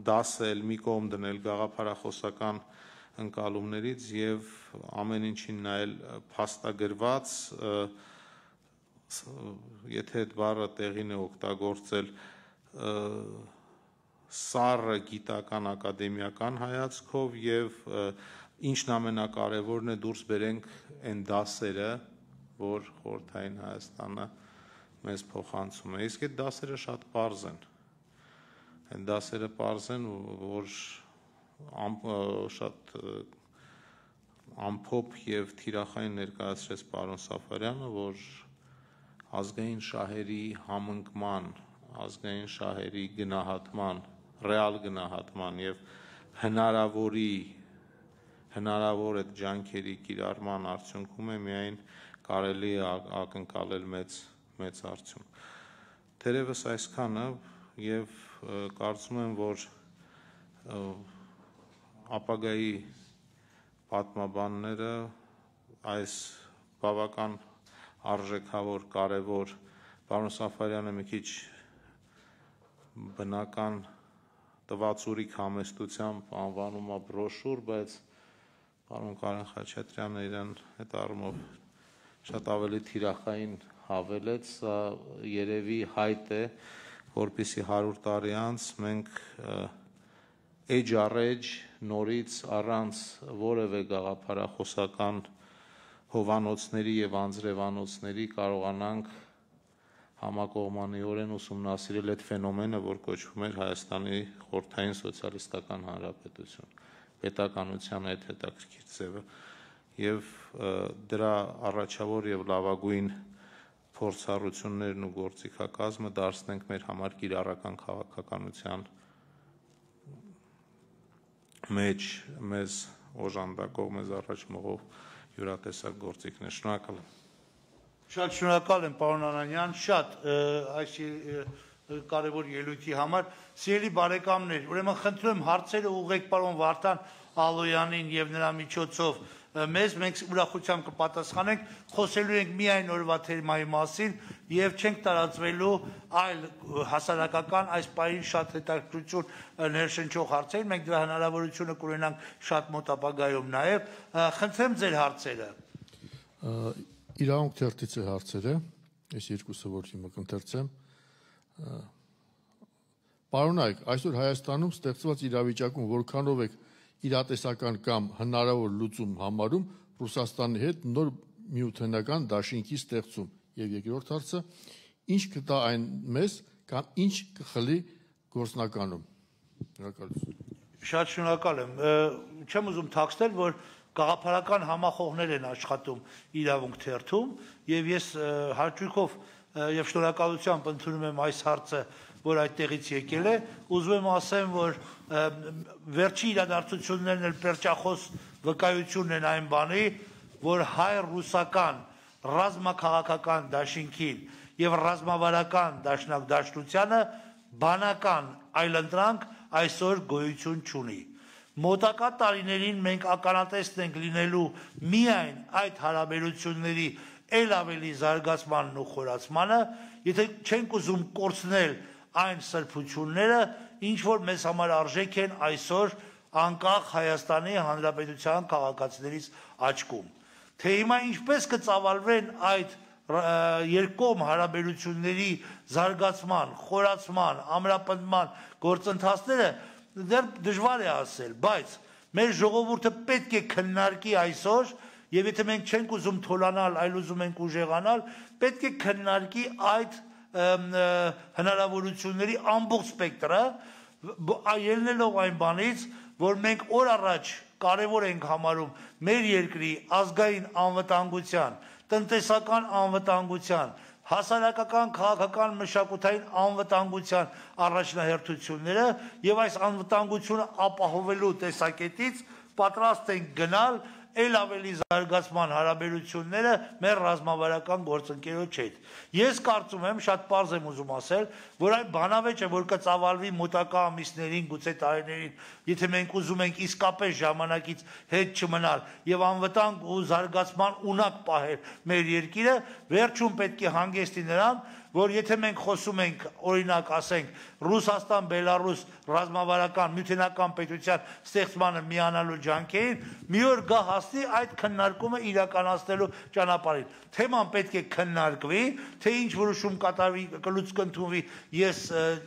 դասել, մի կողմ դնել գաղափարախոսական ընկալումներից եւ ամեն ինչին նայել փաստագրված, եթե այդ բառը տեղին է օգտագործել սառը գիտական ակադեմիական հայացքով եւ ինչն ամենակարևորն է դուրս բերենք այն դասերը, որ խորհրդային Հայաստանը մեզ փոխանցում է։ Իսկ այդ դասերը շատ պարզ են։ Այն դասերը պարզ են, որ շատ ամփոփ եւ թիրախային ներկայացրեց պարոն Սաֆարյանը, որ ազգային շահերի համընկման, ազգային շահերի գնահատման, ռեալ գնահատման եւ հնարավորի հնարավոր այդ ջանքերի կիրառման արդյունքում է միայն կարելի է ակնկալել մեծ մեծ արդյունք։ Թերևս այսքանը եւ կարծում եմ, որ ապագայի պատմաբանները այս բավական արժեքավոր, կարևոր, պարոն Սաֆարյանը մի քիչ բնական տվացուրիկ համեստությամբ անվանում է բրոշուր, բայց պարոն Կարեն Խաչատրյանը իրան այդ առումով շատ ավելի թիրախային հավելեց, սա երևի հայտ է, որպեսզի հարյուր տարի անց մենք էջ առեջ նորից առանց որևէ գաղափարախոսական հովանոցների եւ անձրևանոցների կարողանանք համակողմանիորեն ուսումնասիրել այդ ֆենոմենը, որ կոչվում էր Հայաստանի խորհրդային սոցիալիստական հանրապետություն, պետականության այդ հետաքրքիր ձևը, եւ դրա առաջավոր եւ լավագույն փորձառություններն ու գործիքակազմը դարձնենք մեր համար կիրառական քաղաքականության մեջ մեզ օժանդակող, մեզ առաջ մղող յուրատեսակ գործիքներ։ Շնորհակալ եմ։ Շատ շնորհակալ եմ, պարոն Անանյան, շատ այս կարևոր ելույթի համար։ Սիրելի բարեկամներ, ուրեմն խնդրում եմ հարցերը ուղղեք պարոն Վարդան Ալոյանին եւ նրա միջոցով մեզ, մենք ուրախությամբ կպատասխանենք, խոսելու ենք միայն օրվա թեմայի մասին եւ չենք տարածվելու այլ հասարակական այս պահին շատ հետաքրքրություն ներշնչող հարցեր, մենք դրա հնարավորությունը կունենանք շատ մոտ ապագայում նաեւ։ Խնդրեմ ձեր հարցերը։ Իրավունք թերթից է հարցերը, այս երկուսը որ հիմա կընթերցեմ։ Պարոնայք, այսօր Հայաստանում ստեղծված իրավիճակում որքանով եք իրատեսական կամ հնարավոր լուծում համարում Ռուսաստանի հետ նոր միութենական դաշինքի ստեղծում եւ երկրորդ հարցը ինչ կտա այն մեզ կամ ինչ կխլի գործնականում։ Շնորհակալություն։ Շատ շնորհակալ եմ։ Չեմ ուզում թաքցնել, որ գաղափարական համախոհներ են աշխատում իրավունք թերթում եւ ես հաճույքով եւ շնորհակալությամբ ընդունում եմ այս հարցը, որ այդտեղից եկել է, ուզում եմ ասեմ, որ վերջի իրադարձություններն էլ պերճախոս վկայությունն են այն բանի, որ հայ-ռուսական ռազմաքաղաքական դաշինքին եւ ռազմավարական դաշնակցությանը բանական այլընտրանք այսօր գոյություն չունի։ Մոտակա տարիներին մենք ականատեսն ենք լինելու միայն այդ հարաբերությունների ել ավելի զարգացմանն ու խորացմանը, եթե չենք ուզում կորցնել այն սրբությունները, ինչ որ մեզ համար արժեք են այսօր անկախ Հայաստանի Հանրապետության քաղաքացիներից աչքում։ Թե հիմա ինչպես կծավալվեն այդ երկկողմ հարաբերությունների զարգացման, խորացման, ամրապնդման գործընթացները, դեռ դժվար է ասել, բայց մեր ժողովուրդը պետք է քննարկի այսօր, եւ եթե մենք չենք ուզում թոլանալ, այլ ուզում ենք ուժեղանալ, պետք է քննարկի այդ հնարավորությունների ամբողջ սպեկտրը, ելնելով այն բանից, որ մենք օր առաջ կարևոր ենք համարում մեր երկրի ազգային անվտանգության, տնտեսական անվտանգության, հասարակական, քաղաքական, մշակութային անվտանգության առաջնահերթությունները եւ այս անվտանգությունը ապահովելու տեսակետից պատրաստ ենք գնալ ել ավելի զարգացման հարաբերությունները մեր ռազմավարական գործընկերոջ հետ։ Ես կարծում եմ, շատ պարզ եմ ուզում ասել, որ այն բանավեճը, որ կծավալվի մոտակա ամիսներին, գուցե տարիներին, եթե մենք ուզում ենք իսկապես ժամանակից հետ չմնալ եւ անվտանգ ու զարգացման ունակ պահել մեր երկիրը, վերջում պետք է հանգեցնի նրան, որ եթե մենք խոսում ենք, օրինակ ասենք, Ռուսաստան-Բելարուս ռազմավարական միութենական պետության ստեղծմանը միանալու ջանքերին, մի օր գա հասնի այդ քննարկումը իրականացնելու ճանապարհին։ Թեման պետք է քննարկվի, թե ինչ որոշում կատարվի, կլուծք ընդունվի, ես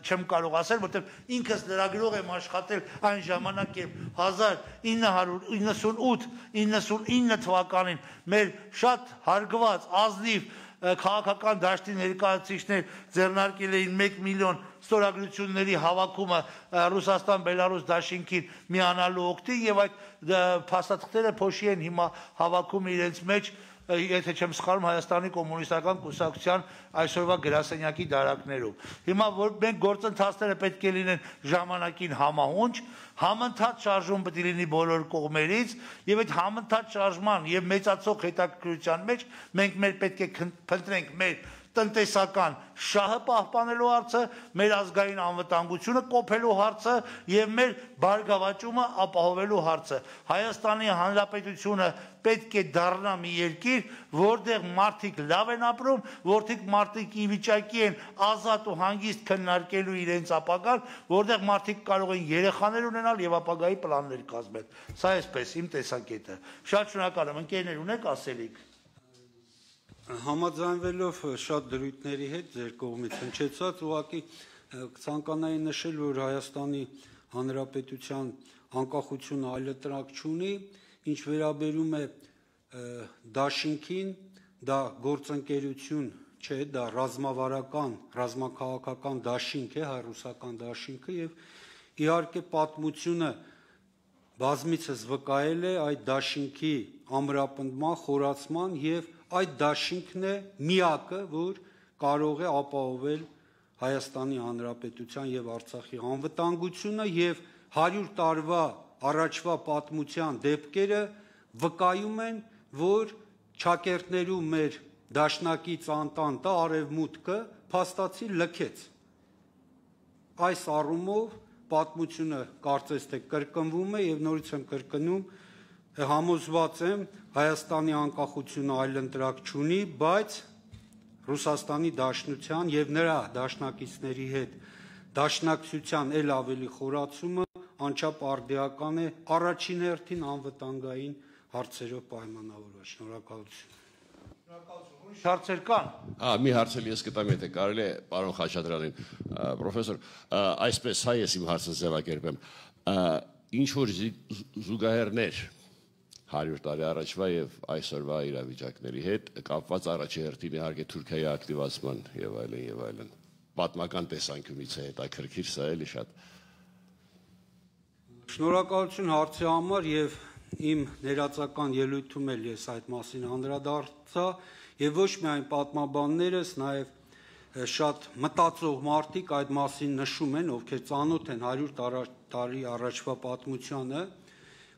չեմ կարող ասել, որտեղ ինքս լրագրող եմ աշխատել այն ժամանակ, երբ հազար ինը հարյուր իննսունութ իննսունինը թվականին մեր շատ հարգված ազնիվ քաղաքական դաշտի ներկայացուցիչներ ձեռնարկել էին մեկ միլիոն ստորագրությունների հավաքումը Ռուսաստան-Բելարուս դաշինքին միանալու օգտին եւ այդ փաստաթղթերը փոշի են հիմա հավաքում իրենց մեջ, եթե չեմ սխալվում, Հայաստանի կոմունիստական կուսակցության այսօրվա գրասենյակի դարակներում։ Հիմա որ մենք գործընթացները պետք է լինեն ժամանակին համահունչ, համընթաց շարժում պետք է լինի բոլոր կողմերից, եւ այդ համընթաց շարժման եւ մեծացող հետաքրքրության մեջ մենք մեր պետք է փնտրենք մեր տնտեսական շահը պահպանելու հարցը, մեր ազգային անվտանգությունը կոփելու հարցը եւ մեր բարգավաճումը ապահովելու հարցը։ Հայաստանի Հանրապետությունը պետք է դառնա մի երկիր, որտեղ մարդիկ լավ են ապրում, որտեղ մարդիկ ի վիճակի են ազատ ու հանգիստ քննարկելու իրենց ապագան, որտեղ մարդիկ կարող են երեխաներ ունենալ եւ ապագայի պլաններ կազմել։ Սա էսպես իմ տեսակետը։ Շատ շնորհակալ եմ, ընկերներ, ունեք ասելիք։ Համաձայնվելով շատ դրույթների հետ ձեր կողմից հնչեցած, ուղղակի ցանկանայի նշել, որ Հայաստանի Հանրապետության անկախությունը այլընտրանք չունի, ինչ վերաբերում է դաշինքին, դա գործընկերություն չէ, դա ռազմավարական, ռազմաքաղաքական դաշինք է, հայ-ռուսական դաշինքը եւ իհարկե պատմությունը բազմիցս վկայել է այդ դաշինքի ամրապնդման, խորացման եւ այդ դաշինքն է միակը, որ կարող է ապահովել Հայաստանի Հանրապետության եւ Արցախի անվտանգությունը եւ հարյուր տարվա առաջվա պատմության դեպքերը վկայում են, որ ճակերտներու մեր դաշնակից անտանտը արևմուտքը փաստացի լքեց։ Այս առումով պատմությունը կարծես թե կրկնվում է եւ նորից եմ կրկնում, համոզված եմ Հայաստանի անկախությունը այլընտրանք չունի, բայց Ռուսաստանի Դաշնության եւ նրա դաշնակիցների հետ դաշնակցության ել ավելի խորացումը անչափ արդիական է առաջին հերթին անվտանգային հարցերով պայմանավորված։ Շնորհակալություն։ Շնորհակալություն։ Հարցեր կան։ Հա, մի հարց էլ ես կտամ, եթե կարելի է, պարոն Խաչատրյանին, պրոֆեսոր, այսպես հայ ես իմ հարցը ձևակերպեմ։ Ինչ որ զուգահեռներ հարյուր տարի առաջվա եւ այսօրվա իրավիճակների հետ կապված առաջի հերթին իհարկե Թուրքիայի ակտիվացման եւ այլն եւ այլն պատմական տեսանկյունից է հետաքրքիր, սա էլի շատ։ Շնորհակալություն հարցի համար եւ իմ ներածական ելույթում էլ ես այդ մասին անդրադարձա եւ ոչ միայն պատմաբաններս, նաեւ շատ մտածող մարդիկ այդ մասին նշում են, ովքեր ծանոթ են հարյուր տարի առաջվա պատմությանը։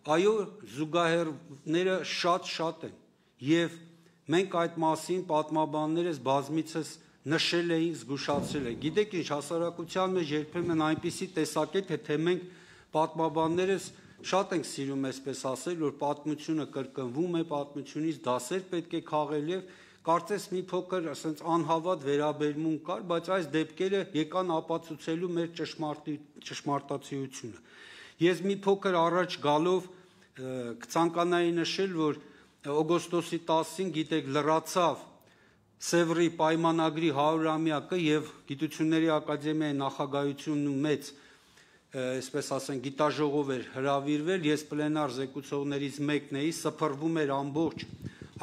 Այո, զուգահեռները շատ-շատ են եւ մենք այդ մասին պատմաբաններս բազմիցս նշել էինք, զգուշացրել ենք։ Գիտեք ինչ, հասարակության մեջ երբեմն այնպիսի տեսակետ է, թե մենք պատմաբաններս շատ ենք սիրում այսպես ասել, որ պատմությունը կրկնվում է, պատմությունից դասեր պետք է քաղել եւ կարծես մի փոքր ասենց անհավատ վերաբերմունք կար, բայց այս դեպքերը եկան ապացուցելու մեր ճշմարտացիությունը։ Ես մի փոքր առաջ գալով կցանկանայի նշել, որ օգոստոսի տասին, գիտեք, լրացավ Սևրի պայմանագրի հարյուրամյակը եւ Գիտությունների ակադեմիայի նախագահությունն ու մեծ, այսպես ասենք, գիտաժողով էր հրավիրվել, ես պլենար զեկուցողներից մեկն էի, սփռվում էր ամբողջ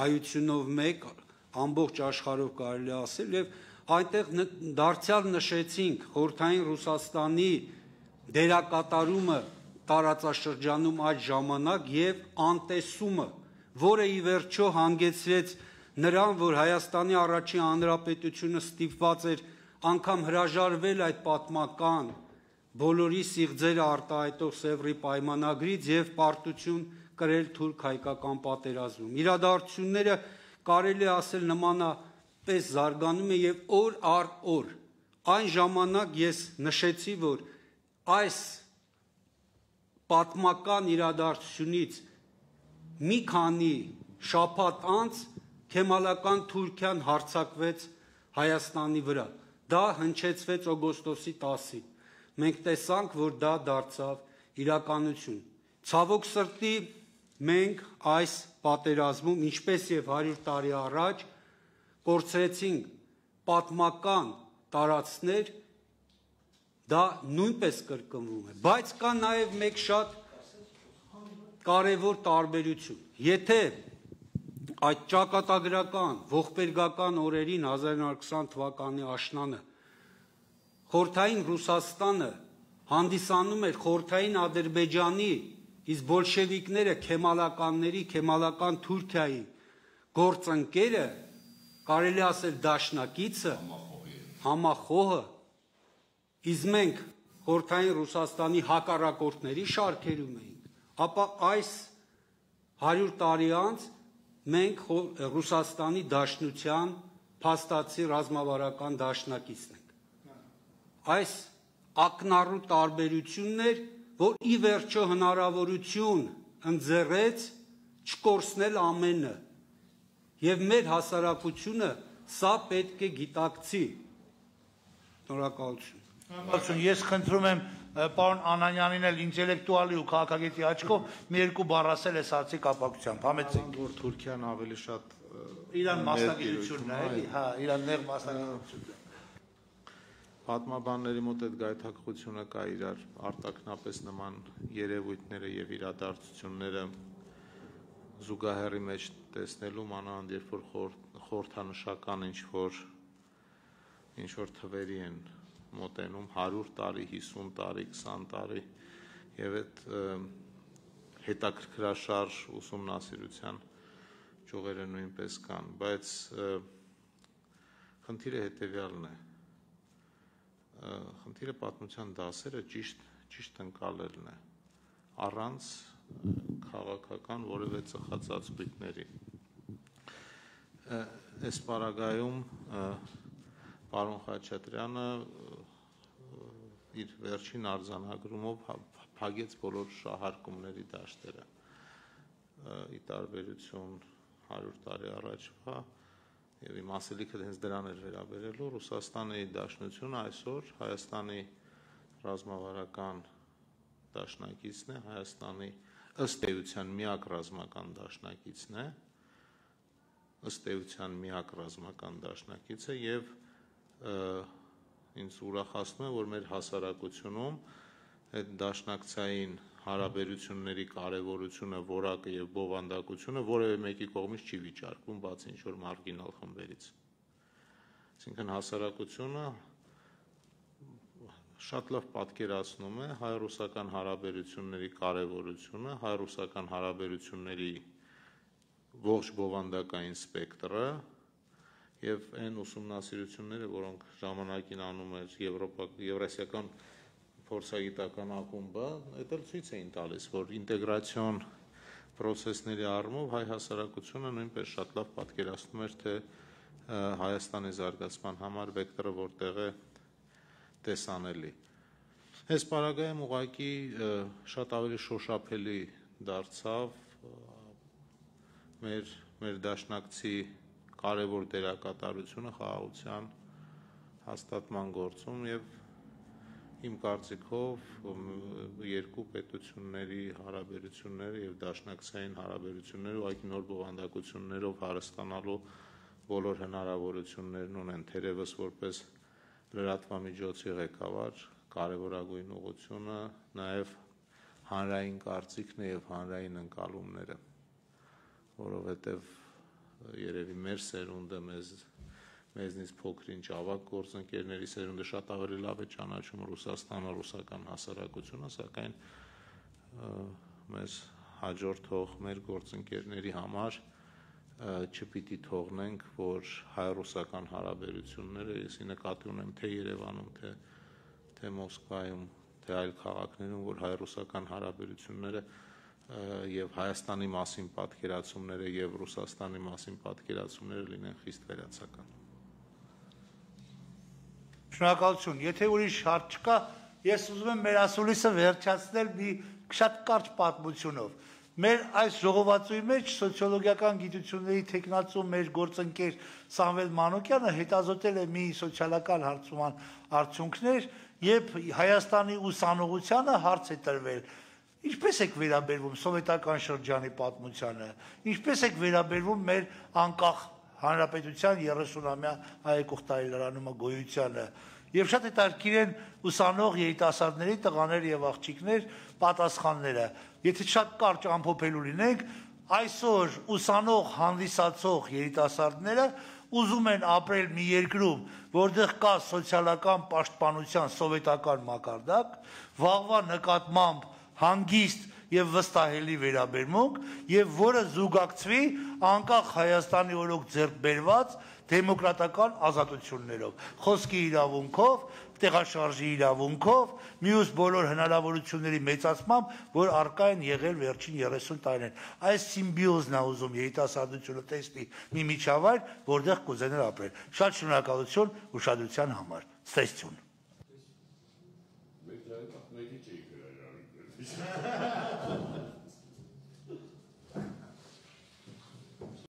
հայությունով մեկ, ամբողջ աշխարհով կարելի ասել եւ այնտեղ դարձյալ նշեցինք Խորհրդային Ռուսաստանի դերակատարումը տարածաշրջանում այդ ժամանակ եւ անտեսումը, որը ի վերջո հանգեցրեց նրան, որ Հայաստանի առաջին հանրապետությունը ստիպված էր անգամ հրաժարվել այդ պատմական բոլորի սիղձերը արտահայտող Սևրի պայմանագրից եւ պարտություն կրել թուրք-հայկական պատերազմում։ Իրադարձությունները կարելի ասել նմանապես զարգանում է եւ օր առ օր։ Այն ժամանակ ես նշեցի, որ այս պատմական իրադարձությունից մի քանի շաբաթ անց Քեմալական Թուրքիան հարձակվեց Հայաստանի վրա։ Դա հնչեցվեց օգոստոսի տասին։ Մենք տեսանք, որ դա դարձավ իրականություն։ Ցավոք սրտի մենք այս պատերազմում, ինչպես եւ հարյուր տարի առաջ, կորցրեցինք պատմական տարածքներ, դա նույնպես կրկնվում է, բայց կա նաեւ մեկ շատ կարևոր տարբերություն։ Եթե այդ ճակատագրական, ողբերգական օրերին հազար իննսուն ութ թվականի աշնանը Խորհրդային Ռուսաստանը հանդիսանում էր Խորհրդային Ադրբեջանի, իսկ բոլշևիկները քեմալականների, քեմալական Թուրքիայի գործընկերը, կարելի ասել դաշնակիցը, համախոհը, իսկ մենք Խորհրդային Ռուսաստանի հակառակորդների շարքերում էինք, ապա այս հարյուր տարի անց մենք Ռուսաստանի Դաշնության փաստացի ռազմավարական դաշնակիցն ենք։ Այս ակնառու տարբերությունն էր, որ ի վերջո հնարավորություն ընձեռեց չկորցնել ամենը, եւ մեր հասարակությունը սա պետք է գիտակցի։ Շնորհակալություն։ Շնորհակալություն։ Ես խնդրում եմ պարոն Անանյանին էլ ինտելեկտուալի ու քաղաքագետի աչքով մի երկու բառ ասել այս հարցի կապակցությամբ։ Համեցեք, որ Թուրքիան ավելի շատ իրան մասնագիտությունն է, էլի, հա, իրան նեղ մասնագիտությունն է։ Պատմաբանների մոտ այդ գայթակղությունը կա իրար արտաքնապես նման երևույթները եւ իրադարձությունները զուգահեռի մեջ տեսնելու մանավանդ երբ որ խորհրդանշական ինչ որ ինչ որ թվերի են մոտենում հարյուր տարի, հիսուն տարի, քսան տարի եւ այդ հետաքրքրաշարժ ուսումնասիրության ճյուղերը նույնպես կան, բայց խնդիրը հետեւյալն է։ Խնդիրը պատմության դասերը ճիշտ ճիշտ ընկալելն է առանց քաղաքական որևէ ծխածածկույթների։ Այս պարագայում պարոն Խաչատրյանը իր վերջին արձանագրումով փակեց բոլոր շահարկումների դաշտերը ի տարբերություն հարյուր տարի առաջվա եւ իմ ասելիքը հենց դրան էր վերաբերելու Ռուսաստանի Դաշնությունը այսօր Հայաստանի ռազմավարական դաշնակիցն է, Հայաստանի ըստ էության միակ ռազմական դաշնակիցն է, ըստ էության միակ ռազմական դաշնակիցը եւ ինձ ուրախացնում է, որ մեր հասարակությունում այդ դաշնակցային հարաբերությունների կարևորությունը, որակը եւ բովանդակությունը որևէ մեկի կողմից չի վիճարկվում, բացի ինչ որ մարգինալ խմբերից։ Այսինքն հասարակությունը շատ լավ պատկերացնում է հայ-ռուսական հարաբերությունների կարևորությունը, հայ-ռուսական հարաբերությունների ողջ բովանդակային սպեկտրը եւ այն ուսումնասիրությունները, որոնք ժամանակին անում էր Եվրոպա, Եվրասիական փորձագիտական ակումբը, այդ էլ ցույց էին տալիս, որ ինտեգրացիոն process-ների առումով հայ հասարակությունը նույնպես շատ լավ պատկերացնում էր, թե Հայաստանի զարգացման համար վեկտորը որտեղ է տեսանելի։ Այս պարագայում ուղղակի շատ ավելի շոշափելի դարձավ մեր մեր դաշնակցի կարևոր դերակատարությունը խաղաղության հաստատման գործում եւ իմ կարծիքով երկու պետությունների հարաբերությունները եւ դաշնակցային հարաբերությունները ուղղակի նոր բովանդակություններով հարստանալու բոլոր հնարավորություններն ունեն, թերևս որպես լրատվամիջոցի ղեկավար կարևորագույն ուղղությունը նաեւ հանրային կարծիքն է եւ հանրային ընկալումները, որովհետեւ երևի մեր սերունդը մեզ մեզնից փոքր-ինչ ավագ գործընկերների սերունդը շատ ավելի լավ է ճանաչում Ռուսաստանը, ռուսական հասարակությունը, սակայն մեզ հաջորդող մեր գործընկերների համար չպիտի թողնենք, որ հայ-ռուսական հարաբերությունները, եսի նկատի ունեմ թե Երևանում, թե թե Մոսկվայում, թե այլ քաղաքներում, որ հայ-ռուսական հարաբերությունները եւ Հայաստանի մասին պատկերացումները եւ Ռուսաստանի մասին պատկերացումները լինեն խիստ վերացական։ Շնորհակալություն։ Եթե ուրիշ հարց չկա, ես ուզում եմ մեր ասուլիսը վերջացնել մի շատ կարճ պատմությունով։ Մեր այս ժողովածուի մեջ սոցիոլոգիական գիտությունների թեկնածու մեր գործընկեր Սամվել Մանուկյանը հետազոտել է մի սոցիալական հարցման արդյունքներ, երբ Հայաստանի ուսանողությանը հարց է տրվել. ինչպես եք վերաբերվում սովետական շրջանի պատմությանը, ինչպես եք վերաբերվում մեր անկախ հանրապետության երեսունամյա հայեկող տարելարանումը գոյությանը, եւ շատ հետաքրքիր են ուսանող երիտասարդների տղաներ եւ աղջիկներ պատասխանները։ Եթե շատ կարճ ամփոփելու լինենք, այսօր ուսանող հանդիսացող երիտասարդները ուզում են ապրել մի երկրում, որտեղ կա սոցիալական պաշտպանության սովետական մակարդակ, վաղվա նկատմամբ հանգիստ եւ վստահելի վերաբերմունք եւ որը զուգակցվի անկախ Հայաստանի օրոք ձեռք բերված դեմոկրատական ազատություններով, խոսքի իրավունքով, տեղաշարժի իրավունքով, մյուս բոլոր հնարավորությունների մեծացմամբ, որ առկա են եղել վերջին երեսուն տարիներին։ Այս սիմբիոզն է ուզում երիտասարդությունը տեսնի մի միջավայր, որտեղ կուզենար ապրել։ Շատ շնորհակալություն ուշադրության համար։ Ստեսություն։